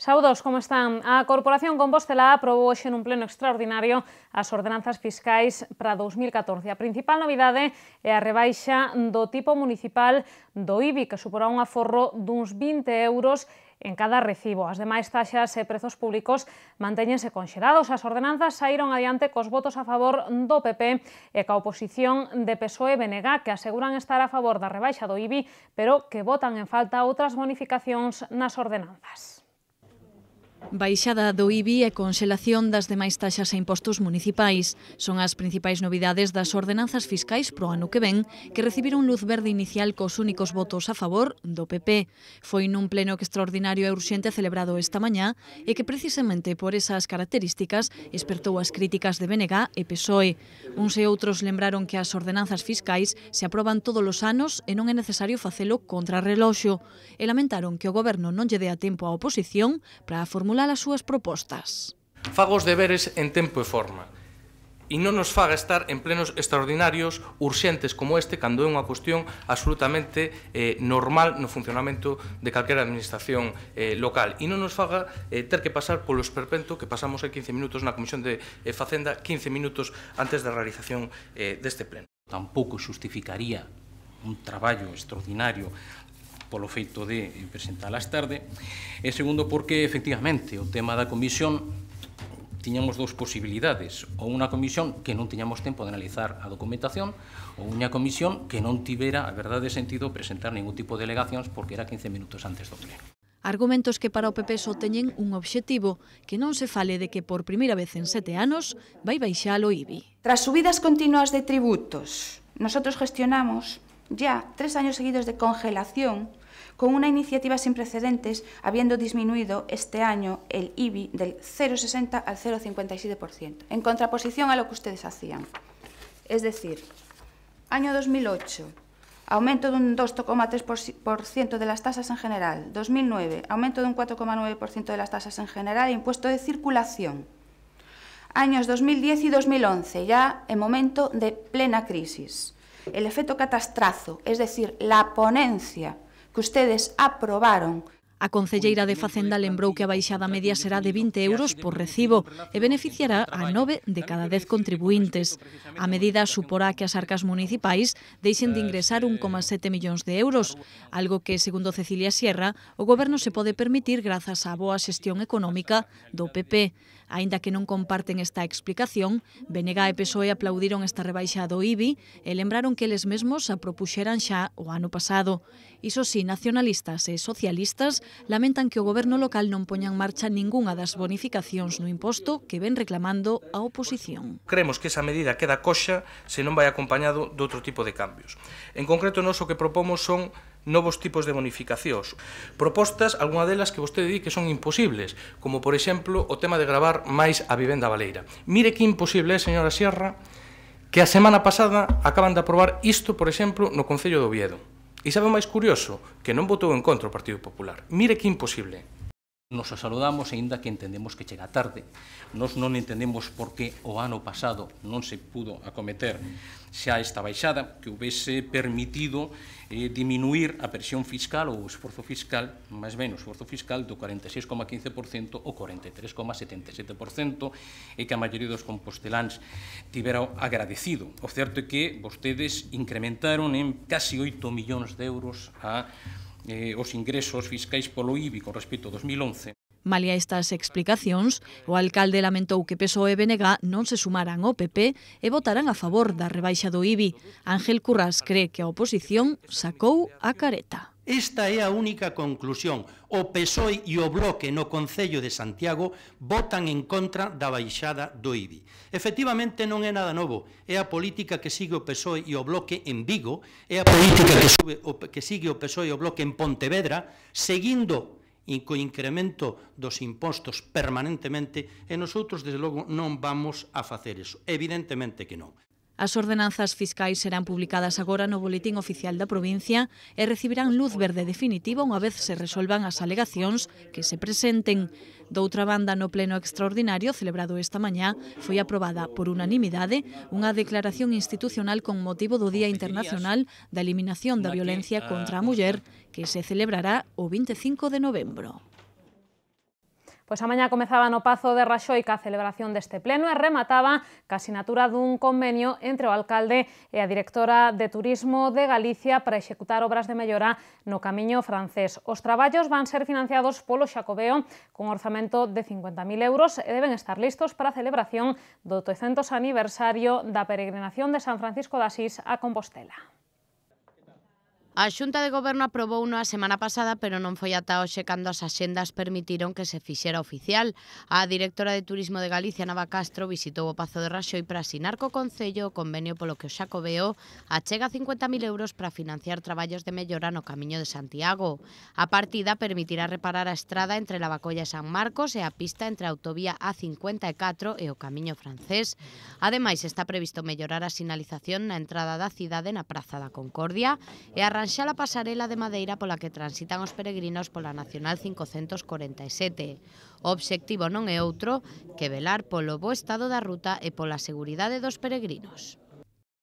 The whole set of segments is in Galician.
Saúdos, como están? A Corporación Compostela aprobou hoxe nun pleno extraordinario as ordenanzas fiscais para 2014. A principal novidade é a rebaixa do tipo municipal do IBI, que suporá un aforro duns 20 euros en cada recibo. As demais taxas e prezos públicos mantéñense conxelados. As ordenanzas saíron adiante cos votos a favor do PP e ca oposición de PSOE e BNG, que aseguran estar a favor da rebaixa do IBI, pero que votan en falta outras bonificacións nas ordenanzas. Baixada do IBI e conxelación das demais taxas e impostos municipais son as principais novidades das ordenanzas fiscais pro ano que ven, que recibiron luz verde inicial cos únicos votos a favor do PP. Foi nun pleno extraordinario e urxente celebrado esta mañá e que precisamente por esas características espertou as críticas de BNG e PSOE. Uns e outros lembraron que as ordenanzas fiscais se aproban todos os anos e non é necesario facelo contra reloxo, e lamentaron que o goberno non lle dea tempo á oposición para formular as súas propostas. Faga os deberes en tempo e forma e non nos faga estar en plenos extraordinarios urxentes como este cando é unha cuestión absolutamente normal no funcionamento de calquera administración local e non nos faga ter que pasar polo esperpento que pasamos en 15 minutos na Comisión de Facenda 15 minutos antes da realización deste pleno. Tampouco xustificaría un traballo extraordinario polo feito de presentalas tarde, e segundo porque, efectivamente, o tema da comisión tiñamos dous posibilidades, ou unha comisión que non tiñamos tempo de analizar a documentación, ou unha comisión que non tivera a verdade sentido presentar ningún tipo de alegacións porque era 15 minutos antes do pleno. Argumentos que para o PP só teñen un obxectivo, que non se fale de que por primeira vez en 7 anos vai baixar o IBI. Tras subidas continuas de tributos, nosotros gestionamos ya 3 años seguidos de congelación con una iniciativa sin precedentes, habiendo disminuido este año el IBI del 0,60 al 0,57%, en contraposición a lo que ustedes hacían. Es decir, año 2008, aumento de un 2,3% de las tasas en general. 2009, aumento de un 4,9% de las tasas en general e impuesto de circulación. Años 2010 y 2011, ya en momento de plena crisis. El efecto catastrazo, es decir, la ponencia que ustedes aprobaron. A concelleira de Facenda lembrou que a baixada media será de 20 euros por recibo e beneficiará a 9 de cada 10 contribuintes. A medida suporá que as arcas municipais deixen de ingresar 1,7 millóns de euros, algo que, segundo Cecilia Sierra, o goberno se pode permitir grazas á boa xestión económica do PP. Aínda que non comparten esta explicación, BNG e PSOE aplaudiron esta rebaixa do IBI e lembraron que eles mesmos a propuxeran xa o ano pasado. Iso sí, nacionalistas e socialistas lamentan que o goberno local non poña en marcha ningunha das bonificacións no imposto que ven reclamando a oposición. Creemos que esa medida queda coxa se non vai acompañado de outro tipo de cambios. En concreto, nós o que propomos son novos tipos de bonificacións. Propostas, algunha delas que vostede di que son imposibles, como, por exemplo, o tema de gravar máis a vivenda baleira. Mire que imposible é, señora Sierra, que a semana pasada acaban de aprobar isto, por exemplo, no Concello de Oviedo. E sabe o máis curioso? Que non votou en contra o Partido Popular. Mire que imposible. Nos saludamos, aínda que entendemos que chega tarde. Nos non entendemos por que o ano pasado non se pudo acometer xa esta baixada, que houvese permitido diminuir a presión fiscal ou o esforzo fiscal, máis ben o esforzo fiscal do 46,15% ao 43,77%, e que a maioría dos composteláns tivera agradecido. O certo é que vostedes incrementaron en casi 8 millóns de euros os ingresos fiscais polo IBI con respecto a 2011. Malia estas explicacións, o alcalde lamentou que PSOE e BNG non se sumaran ao PP e votaran a favor da rebaixa do IBI. Ángel Currás cree que a oposición sacou a careta. Esta é a única conclusión. O PSOE e o Bloque no Concello de Santiago votan en contra da baixada do IBI. Efectivamente, non é nada novo. É a política que sigue o PSOE e o Bloque en Vigo, é a política que sigue o PSOE e o Bloque en Pontevedra, seguindo co incremento dos impostos permanentemente, e nosotros, desde logo, non vamos a facer eso. Evidentemente que non. As ordenanzas fiscais serán publicadas agora no Boletín Oficial da provincia e recibirán luz verde definitiva unha vez se resolvan as alegacións que se presenten. Doutra banda, no pleno extraordinario celebrado esta mañá, foi aprobada por unanimidade unha declaración institucional con motivo do Día Internacional da Eliminación da Violencia contra a Muller, que se celebrará o 25 de novembro. Pois a mañá comezaba no Pazo de Raxoi ca celebración deste pleno e remataba ca sinatura dun convenio entre o alcalde e a directora de Turismo de Galicia para executar obras de mellora no Camiño Francés. Os traballos van ser financiados polo Xacobeo cun orzamento de 50.000 euros e deben estar listos para a celebración do 800 aniversario da peregrinación de San Francisco de Asís a Compostela. A Xunta de Goberno aprobouno a semana pasada, pero non foi ata hoxe cando as axendas permitiron que se fixera oficial. A directora de Turismo de Galicia, Nava Castro, visitou o Pazo de Raxoi para asinar co Concello o convenio polo que o Xacobeo achega 50.000 euros para financiar traballos de mellora no Camiño de Santiago. A partida permitirá reparar a estrada entre Lavacolla e San Marcos e a pista entre a autovía A54 e o Camiño Francés. Ademais, está previsto mellorar a sinalización na entrada da cidade na Praza da Concordia e arranxar a pasarela de madeira pola que transitan os peregrinos pola Nacional 547. O obxectivo non é outro que velar polo bo estado da ruta e pola seguridade dos peregrinos.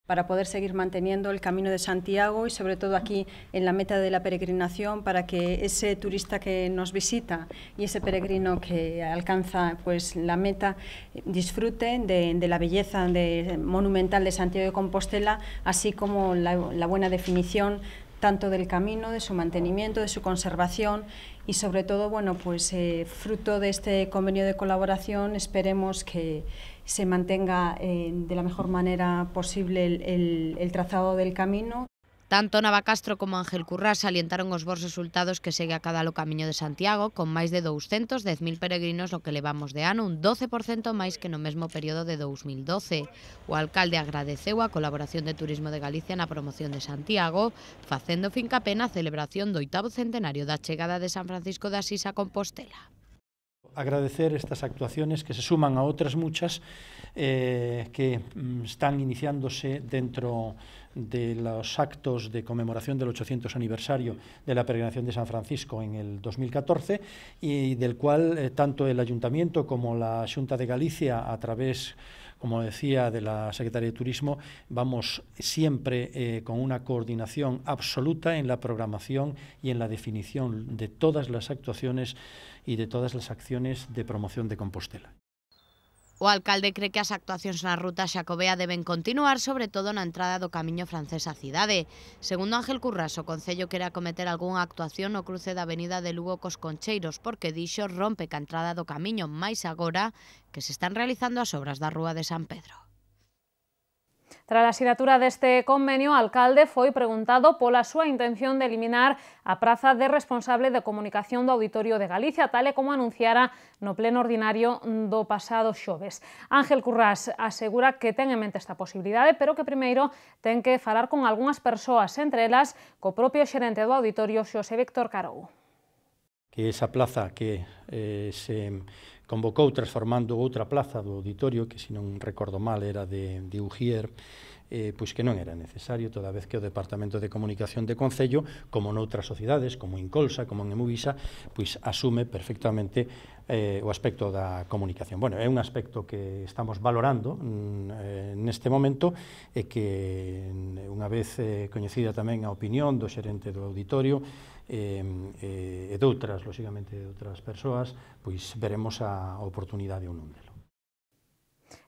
Para poder seguir manteniendo el Camino de Santiago y sobre todo aquí en la meta de la peregrinación, para que ese turista que nos visita y ese peregrino que alcanza pues la meta disfrute de la belleza monumental de Santiago de Compostela, así como la buena definición tanto del camino, de su mantenimiento, de su conservación y sobre todo, bueno, pues fruto de este convenio de colaboración esperemos que se mantenga de la mejor manera posible el trazado del camino. Tanto Nava Castro como Ángel Currás salientaron os bons resultados que segue a cada o Camiño de Santiago, con máis de 210.000 peregrinos no que levamos de ano, un 12% máis que no mesmo período de 2012. O alcalde agradeceu a colaboración de Turismo de Galicia na promoción de Santiago, facendo fincapé na celebración do 8º centenario da chegada de San Francisco de Asís a Compostela. Agradecer estas actuaciones que se suman a otras muchas que están iniciándose dentro de los actos de conmemoración del 800 aniversario de la peregrinación de San Francisco en el 2014 y del cual tanto el Ayuntamiento como la Xunta de Galicia a través, como decía, de la Secretaría de Turismo, vamos siempre con una coordinación absoluta en la programación y en la definición de todas las actuaciones y de todas las acciones de promoción de Compostela. O alcalde cree que as actuacións na ruta xacobea deben continuar, sobre todo na entrada do Camiño Francés á cidade. Segundo Ángel Currás, o Concello quere acometer algunha actuación no cruce da avenida de Lugo cos Concheiros, porque dixo rompe ca entrada do camiño, máis agora que se están realizando as obras da Rúa de San Pedro. Tras a sinatura deste convenio, o alcalde foi preguntado pola súa intención de eliminar a praza de responsable de comunicación do Auditorio de Galicia, tal e como anunciara no pleno ordinario do pasado xoves. Ángel Currás asegura que ten en mente esta posibilidade, pero que primeiro ten que falar con algunhas persoas, entre elas co propio xerente do Auditorio, Xosé Víctor Carou. Que esa plaza que se convocou transformando outra plaza do auditorio, que se non recordo mal era de Ujier, pois que non era necesario, toda vez que o Departamento de Comunicación de Concello, como noutras sociedades, como en Colsa, como en Emuvisa, pois asume perfectamente o aspecto da comunicación. Bueno, é un aspecto que estamos valorando neste momento e que unha vez coñecida tamén a opinión do xerente do auditorio e de outras, lóxicamente, de outras persoas, pois veremos a oportunidade ou non delo.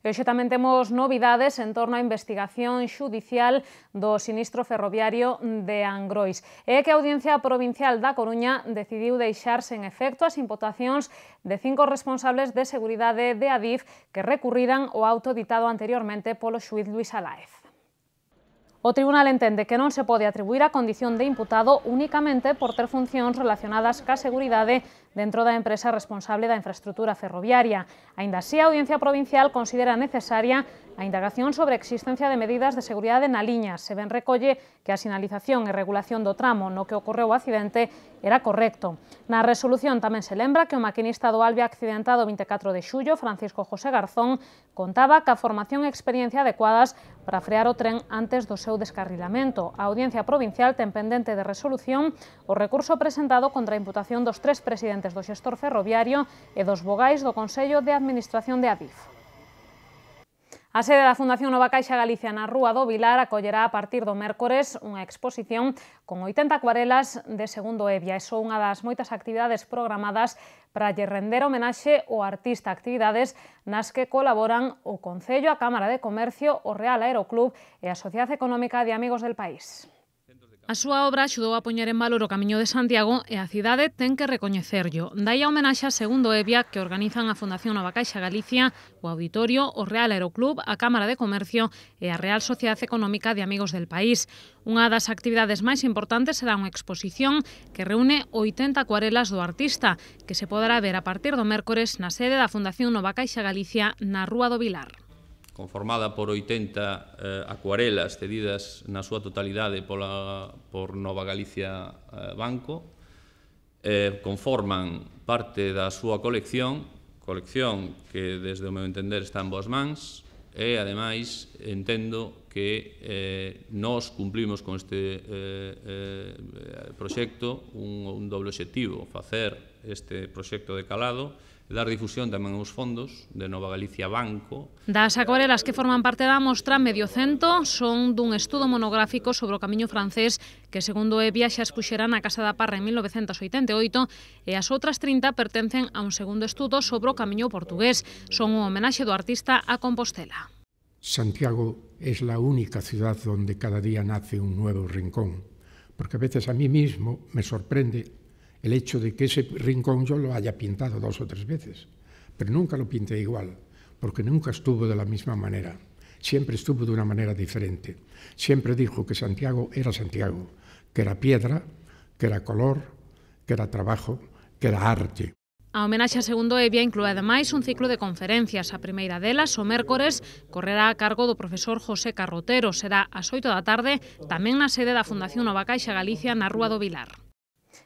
E hoxe tamén temos novidades en torno á investigación xudicial do sinistro ferroviario de Angrois. É que a Audiencia Provincial da Coruña decidiu deixar sen efecto as imputacións de 5 responsables de seguridade de Adif que recurriran o auto ditado anteriormente polo xuíz Luís Aláez. O tribunal entende que non se pode atribuir a condición de imputado únicamente por ter funcións relacionadas ca seguridade dentro da empresa responsable da infraestructura ferroviaria. Aínda así, a Audiencia Provincial considera necesaria a indagación sobre a existencia de medidas de seguridade na liña. Se ben recolle que a sinalización e regulación do tramo no que ocorreu o accidente era correcto. Na resolución tamén se lembra que o maquinista do Alvia accidentado 24 de xullo, Francisco José Garzón, contaba ca formación e experiencia adecuadas para frear o tren antes do seu descarrilamento. A Audiencia Provincial ten pendente de resolución o recurso presentado contra a imputación dos 3 presidentes do xestor ferroviario e dos vogais do Consello de Administración de Adif. A sede da Fundación Nova Caixa Galicia na Rúa do Vilar acollerá a partir do mércores unha exposición con 80 acuarelas de Segundo Evia. É só unha das moitas actividades programadas para lle render homenaxe ao artista, actividades nas que colaboran o Concello, a Cámara de Comercio, o Real Aeroclub e a Sociedade Económica de Amigos del País. A súa obra axudou a poñer en valor o Camiño de Santiago e a cidade ten que recoñecerllo. Dai a homenaxe a Segundo Evia que organizan a Fundación Nova Caixa Galicia, o Auditorio, o Real Aeroclub, a Cámara de Comercio e a Real Sociedade Económica de Amigos del País. Unha das actividades máis importantes será unha exposición que reúne 80 acuarelas do artista, que se poderá ver a partir do mércores na sede da Fundación Nova Caixa Galicia na Rúa do Vilar. Conformada por 80 acuarelas cedidas na súa totalidade por Nova Galicia Banco, conforman parte da súa colección que desde o meu entender está en boas mans e, ademais, entendo que nós cumplimos con este proxecto un doble obxectivo, facer este proxecto de calado e dar difusión tamén aos fondos de Nova Galicia Banco. Das acuarelas que forman parte da mostra, medio cento son dun estudo monográfico sobre o Camiño francés que, segundo Evia, xa expuxera na Casa da Parra en 1988 e as outras 30 pertencen a un segundo estudo sobre o Camiño portugués. Son un homenaxe do artista a Compostela. Santiago es la única ciudad donde cada día nace un nuevo rincón, porque a veces a mí mismo me sorprende el hecho de que ese rincón yo lo haya pintado 2 o 3 veces, pero nunca lo pinté igual, porque nunca estuvo de la misma manera, siempre estuvo de una manera diferente. Siempre dijo que Santiago, que era piedra, que era color, que era trabajo, que era arte. A homenaxe a Segundo Evia inclúe ademais un ciclo de conferencias. A primeira delas, o mércores, correrá a cargo do profesor José Carrotero. Será ás 8 da tarde, tamén na sede da Fundación Nova Caixa Galicia na Rúa do Vilar.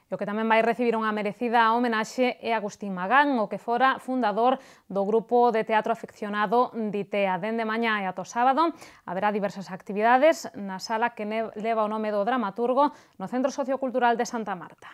E o que tamén vai recibir unha merecida homenaxe é Agustín Magán, o que fora fundador do grupo de teatro afeccionado Ditea. Dende mañá e ata o sábado haberá diversas actividades na sala que leva o nome do dramaturgo no Centro Sociocultural de Santa Marta.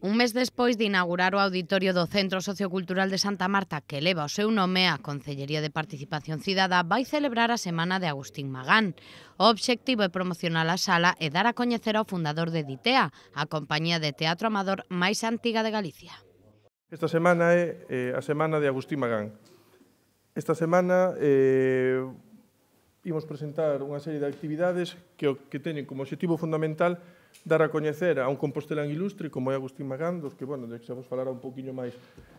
Un mes despois de inaugurar o auditorio do Centro Sociocultural de Santa Marta, que leva o seu nome, a Concellería de Participación Cidadá vai celebrar a Semana de Agustín Magán. O obxectivo é promocionar a sala e dar a coñecer ao fundador de Ditea, a compañía de teatro amador máis antiga de Galicia. Esta semana é a Semana de Agustín Magán. Esta semana imos presentar unha serie de actividades que teñen como objetivo fundamental dar a coñecer a un compostelán ilustre como é Agustín Magán, dos que, bueno, xa vos falará un poquinho máis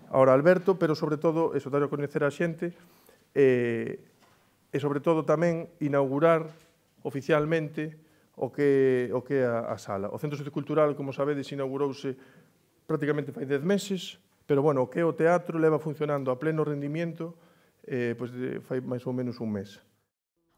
ahora Alberto, pero sobre todo eso, dar a coñecer a xente e sobre todo tamén inaugurar oficialmente o que é a sala. O Centro Sociocultural, como sabedes, inaugurouse prácticamente fai 10 meses, pero, bueno, o que é o teatro leva funcionando a pleno rendimiento fai máis ou menos un mes.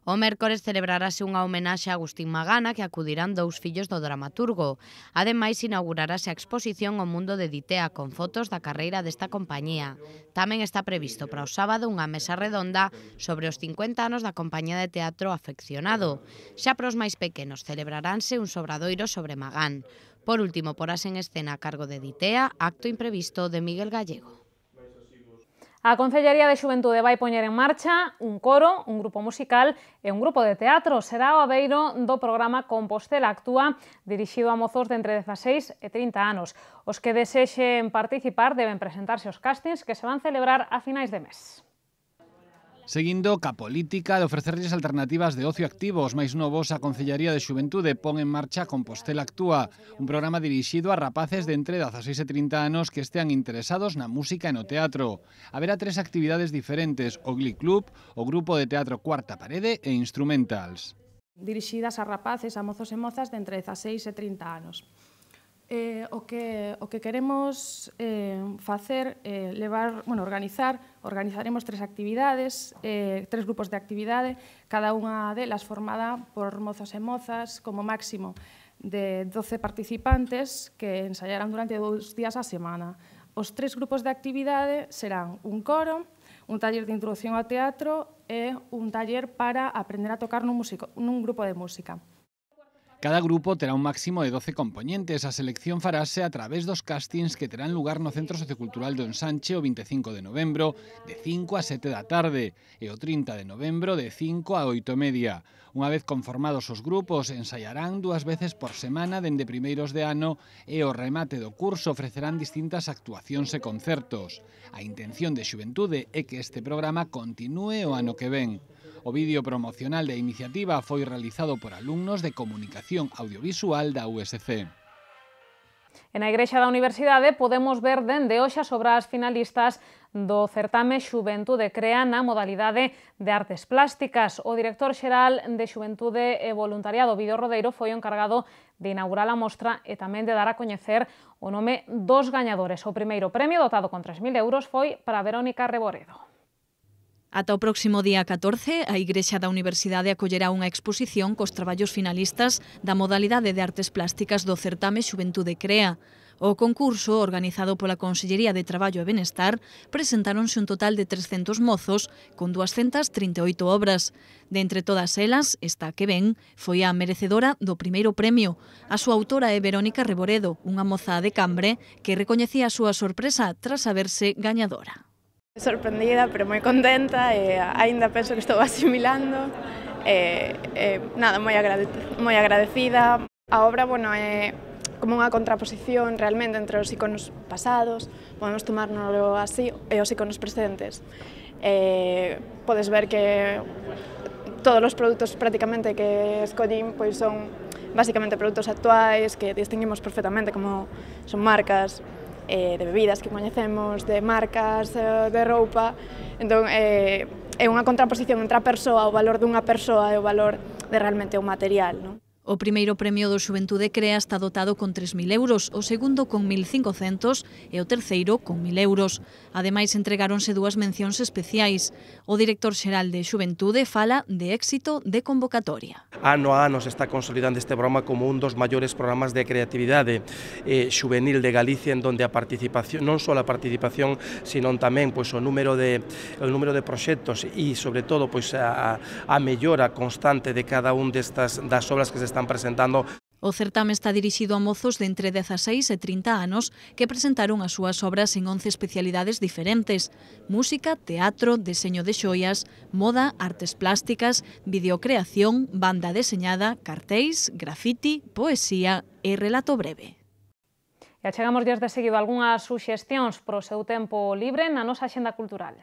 O mércores celebrarase unha homenaxe a Agustín Magán, a que acudirán 2 fillos do dramaturgo. Ademais, inaugurarase a exposición O Mundo de Ditea, con fotos da carreira desta compañía. Tamén está previsto para o sábado unha mesa redonda sobre os 50 anos da compañía de teatro Afeccionado. Xa para os máis pequenos celebraránse un sobradoiro sobre Magán. Por último, porase en escena a cargo de Ditea, acto imprevisto de Miguel Gallego. A Concellería de Xuventude vai poñer en marcha un coro, un grupo musical e un grupo de teatro. Será o abeiro do programa Compostela Actúa, dirixido a mozos de entre 16 e 30 anos. Os que desexen participar deben presentarse aos castings que se van celebrar a finais de mes. Seguindo ca política de ofrecerlles alternativas de ocio activo aos máis novos, a Concellaría de Xuventude pon en marcha Compostela Actúa, un programa dirixido a rapaces de entre 16 e 30 anos que estean interesados na música e no teatro. Haberá 3 actividades diferentes: o Glee Club, o grupo de teatro Cuarta Parede e Instrumentals. Dirixidas a rapaces, a mozos e mozas de entre 16 e 30 anos. O que queremos facer é organizaremos 3 actividades, 3 grupos de actividade, cada unha delas formada por mozos e mozas, como máximo de 12 participantes que ensaiarán durante 2 días a semana. Os 3 grupos de actividade serán un coro, un taller de introducción ao teatro e un taller para aprender a tocar nun grupo de música. Cada grupo terá un máximo de 12 compoñentes. A selección farase a través dos castings que terán lugar no Centro Sociocultural do Ensanche o 25 de novembro de 5 a 7 da tarde e o 30 de novembro de 5 a 8:30. Unha vez conformados os grupos, ensaiarán 2 veces por semana dende primeiros de ano e ao remate do curso ofrecerán distintas actuacións e concertos. A intención de Xuventude é que este programa continúe o ano que ven. O vídeo promocional da iniciativa foi realizado por alumnos de Comunicación Audiovisual da USC. E na Igrexa da Universidade podemos ver dende hoxe as obras finalistas do certame Xuventude Crea na modalidade de artes plásticas. O director xeral de Xuventude e Voluntariado, Vídeo Rodeiro, foi o encargado de inaugurar a mostra e tamén de dar a coñecer o nome dos gañadores. O primeiro premio, dotado con 3.000 euros, foi para Verónica Reboredo. Ata o próximo día 14, a Igrexa da Universidade acollerá unha exposición cos traballos finalistas da modalidade de artes plásticas do certame Xuventude Crea. O concurso, organizado pola Consellería de Traballo e Benestar, presentáronse un total de 300 mozos con 238 obras. De entre todas elas, esta que ven foi a merecedora do primeiro premio. A súa autora é Verónica Reboredo, unha moza de Cambre que recoñecía a súa sorpresa tras saberse gañadora. Sorprendida, pero moi contenta e aínda penso que estou asimilando nada, moi agradecida. A obra, bueno, é como unha contraposición realmente entre os iconos pasados, podemos tomárnoslo así, e os iconos presentes. Podes ver que todos os produtos prácticamente que escollín pois son basicamente produtos actuais que distinguimos perfectamente, como son marcas de bebidas que coñecemos, de marcas de roupa. Entón, é unha contraposición entre a persoa, o valor dunha persoa e o valor de realmente o material, non? O primeiro premio do Xuventude Crea está dotado con 3.000 euros, o segundo con 1.500 e o terceiro con 1.000 euros. Ademais, entregáronse 2 mencións especiais. O director xeral de Xuventude fala de éxito de convocatoria. Ano a ano se está consolidando este programa como un dos maiores programas de creatividade xuvenil de Galicia, en donde a participación, non só a participación, sino tamén pois, o número de proxectos e, sobre todo, pois, a mellora constante de cada un das obras que se están presentando. O certame está dirixido a mozos de entre 16 e 30 anos que presentaron as súas obras en 11 especialidades diferentes: música, teatro, deseño de xoias, moda, artes plásticas, videocreación, banda deseñada, cartéis, grafiti, poesía e relato breve. E achegamos días de seguido algunhas suxestións para o seu tempo libre na nosa axenda cultural.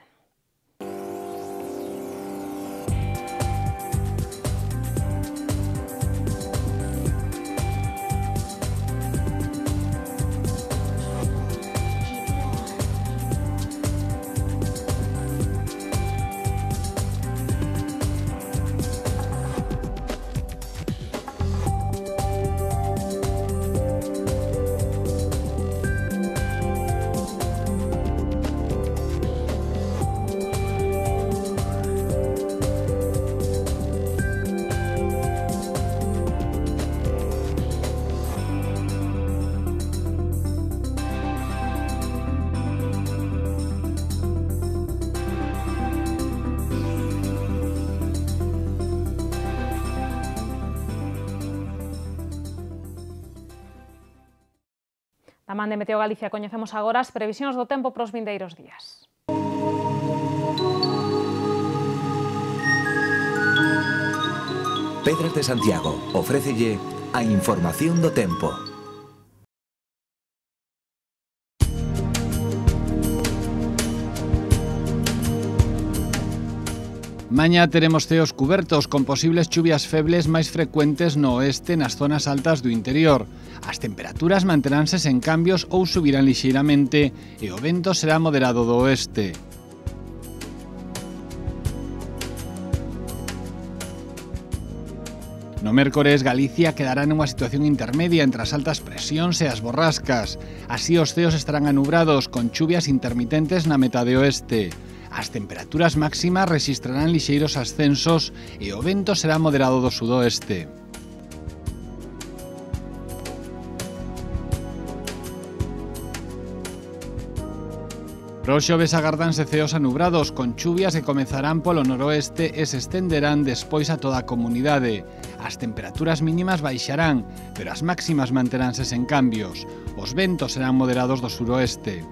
Da man de Meteo Galicia coñecemos agora as previsións do tempo para os vindeiros días. Pedras de Santiago ofrécelle a información do tempo. Mañá teremos ceos cubertos con posibles chuvias febles máis frecuentes no oeste nas zonas altas do interior. As temperaturas manteránse sen cambios ou subirán lixeiramente e o vento será moderado do oeste. No mércores, Galicia quedará nunha situación intermedia entre as altas presións e as borrascas. Así os ceos estarán anubrados con chuvias intermitentes na metade oeste. As temperaturas máximas rexistrarán lixeiros ascensos e o vento será moderado do sudoeste. Para o xoves agárdanse ceos anubrados con chuvias que comezarán polo noroeste e se estenderán despois a toda a comunidade. As temperaturas mínimas baixarán, pero as máximas manteránse sen cambios. Os ventos serán moderados do suroeste.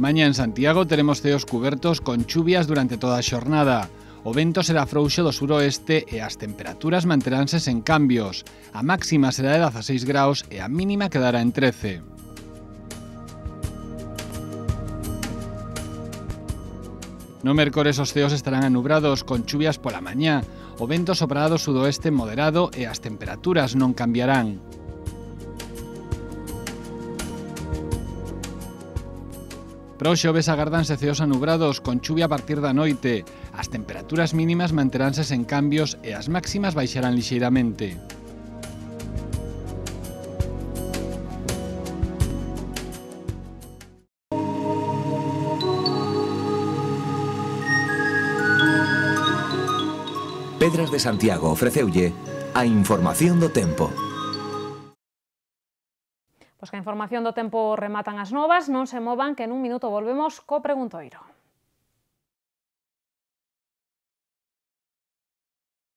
Mañá en Santiago teremos ceos cubertos con chuvias durante toda a xornada. O vento será frouxo do suroeste e as temperaturas manteránse sen cambios. A máxima será de 16 graus e a mínima quedará en 13. No mércores os ceos estarán anubrados con chuvias pola mañá. O vento soprará do sudoeste moderado e as temperaturas non cambiarán. Para o xoves agardanse ceos anubrados con chuvia a partir da noite. As temperaturas mínimas manteránse sen cambios e as máximas baixarán lixeiramente. Pedras de Santiago ofreceulle a información do tempo. Pois que a información do tempo rematan as novas, non se movan que nun minuto volvemos co preguntoiro.